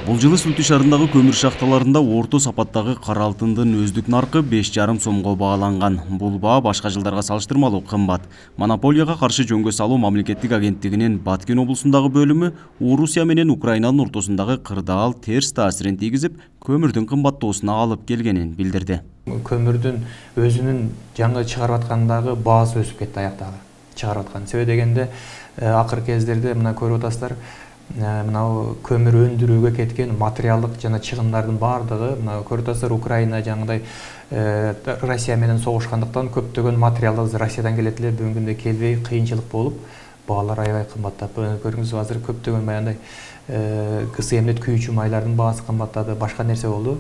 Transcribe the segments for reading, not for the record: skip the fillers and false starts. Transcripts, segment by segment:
Бул жылы Сүлүктү шаарындагы көмүр шахталарында орто сапаттагы кара алтындын өздүк наркы 5,5 сомго бааланган. Бул баа башка жылдарга салыштырмалуу кымбат. Монополияга каршы жөнгө салуу мамлекеттик агенттигинин Баткен облусундагы бөлүмү Орусия менен Украинанын ортосундагы кырдаал терс таасирин тийгизип, көмүрдүн кымбаттоосуна алып келгенин билдирди. Көмүрдүн өзүнүн жаңы чыгарып аткандагы баасы өсүп кетти аяктагы. Чыгарып аткан. Себеби дегенде акыркы кездерде мына көрүп атасыздар, мынау көмүр өндүрүүгө кеткен материалдык жана чыгымдардын баардыгы мына көрүп атасыздар, Украина жаңыдай Россия менен согушкандыктан көптөгөн материалдар Россиядан келет эле, бүгүнкү күндө келбей кыйынчылык болуп, баалар аябай кымбаттап. Көрүңүз, азыр көптөгөн баягындай кысы эмнет күйүүчү майлардын баасы кымбаттады, башка нерсе болду.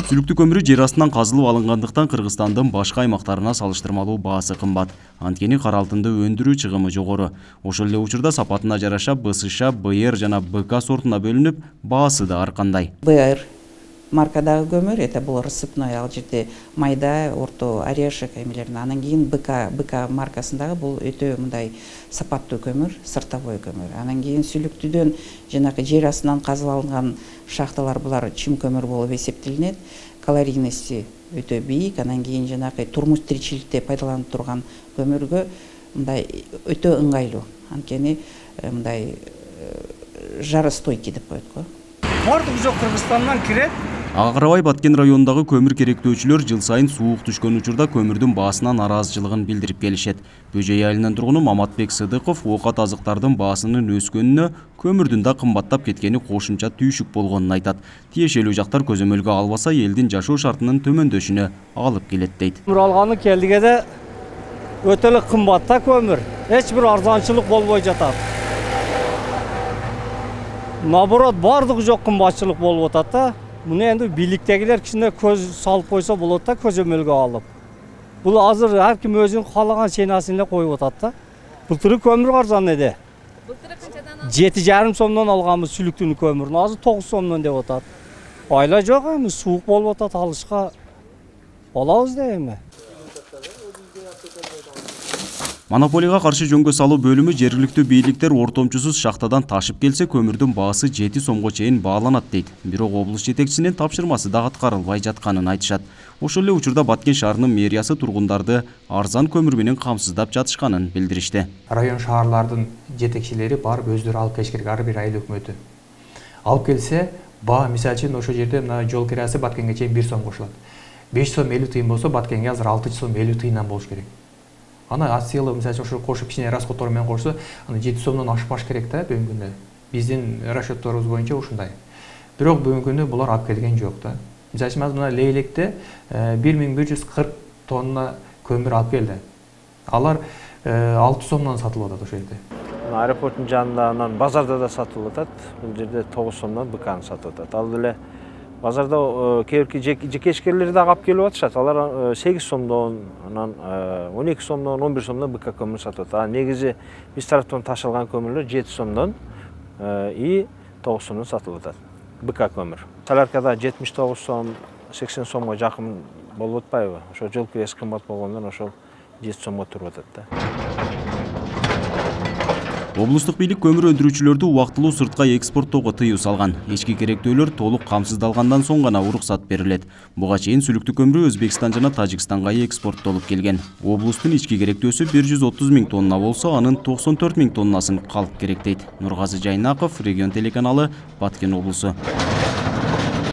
Сүлүктү көмүрү жер астынан казылып алынгандыктан Кыргызстандын башка аймактарына салыштырмалуу баасы кымбат. Анткени кара алтынды өндүрүү чыгымы жогору. Ошол эле учурда сапатына жараша БСШ, БР жана БК сортуна бөлүнүп, баасы да ар кандай. БР маркадагы көмүр, это бул рассыпной, ал жерде майда, орто, орешек эмелерин. Анан кийин БК маркасындагы бул өтө мындай сапаттуу көмүр, сыртовой көмүр. Анан кийин сүлүктүдөн жанагы жер астынан казылып алынган шахталар, булар чым көмүр болуп эсептелинет. Калорийности өтө бийик. Анан кийин жанагы турмуш тиричиликте пайдаланып турган көмүргө мындай өтө ыңгайлуу. Анткени мындай жаростойкий деп коет го. Бардык жок Кыргызстандан кирет. Ага карабай Баткен районундагы көмүр керектөөчүлөр жыл сайын суук түшкөн учурда көмүрдүн баасынан нараазычылыгын билдирип келишет. Бөжөй айылынын тургуну Маматбек Сыдыков оокат азыктардын баасынын өскөнүнө көмүрдүн да кымбаттап кеткени кошумча түйшүк болгонун айтат. Тиешелүү жактар көзөмөлгө албаса, элдин жашоо шартынын төмөндөшүнө алып келет дейт. Көмүр алганы келдигеде өтө эле кымбат да көмүр. Эч бир арзанчылык болбой жатат. Наоборот, бардыгы жок кымбатчылык болуп атат да. Муну энди бийликтегилер кичине көз салып койсо болот да, көзөмөлгө алып. Бул азыр ар ким өзүнүн каалаган ценасын эле коюп атат да. Былтыры көмүр арзан эди. Былтыры канчадан? 7,5 сомдон алганбыз сүлүктүн көмүрүн, азыр 9 сомдон деп атат. Айла жок, эми суук болуп атат, алышка алабыз да эми. Монополияга каршы жөнгө салуу бөлүмү жергиликтүү бийликтер ортомчусуз шахтадан ташып келсе көмүрдүн баасы 7 сомго чейин бааланат дейт. Бирок облус жетекчисинин тапшырмасы да аткарылбай жатканын айтышат. Ошол эле учурда Баткен шаарынын мэриясы тургундарды арзан көмүр менен камсыздап жатышканын билдиришти. Район шаарлардын жетекчилери барып өздөрү алып келиш керек, ар бир айыл өкмөтү. Алып келсе, баа мисалы үчүн ошол жерде мына жол кирасы Баткенге чейин 1 сом кошулат. 5 сом 50 тыйын болсо, Баткенге азыр 6 сом 50 тыйындан болуш керек. Ана асылы мисалы ошо кошуп кичине расходтор менен кошсо, аны 7 сомдон ашпаш керек да бүгүнкү күндө. Биздин расчетторубуз боюнча ушундай. Бирок бүгүнкү күндө булар алып келген жок да. Мисалы үчүн мына Лейлекте 1140 тонна көмүр алып келди. Алар 6 сомдон сатылып атат ошол жерде. Аэропорттун жанында анан базарда да сатылып атат. Бул жерде 9 сомдон БКны сатып атат. Ал эле базарда кээки жекешкерлер да алып келип атышат. Алар 8 сомдон, анан 12 сомдон, 11 сомдон БК көмүр сатып атат. Негизи биз тараптан ташылган көмүрлөр 7 сомдон и 9 сомдон сатылып атат. БК көмүр. Соляркада 79 сом, 80 сомго жакын болуп атпайбы? Ошо жол кирesi кымбат болгондон ошол 7 сомго туруп атат да. Облустук бийлик көмүр өндүрүүчүлөрдү убактылуу сыртка экспорттоого тыюу салган. Ички керектөөлөр толук камсыздалгандан соң гана уруксат берилет. Буга чейин сүлүктү көмүрү Өзбекстан жана Тажикстанга экспорттолуп келген. Облустун ички керектөөсү 130 000 тонна болсо, анын 94 000 тоннасын калк керектейт. Нургазы Жайнаков, Регион телеканалы, Баткен облусу.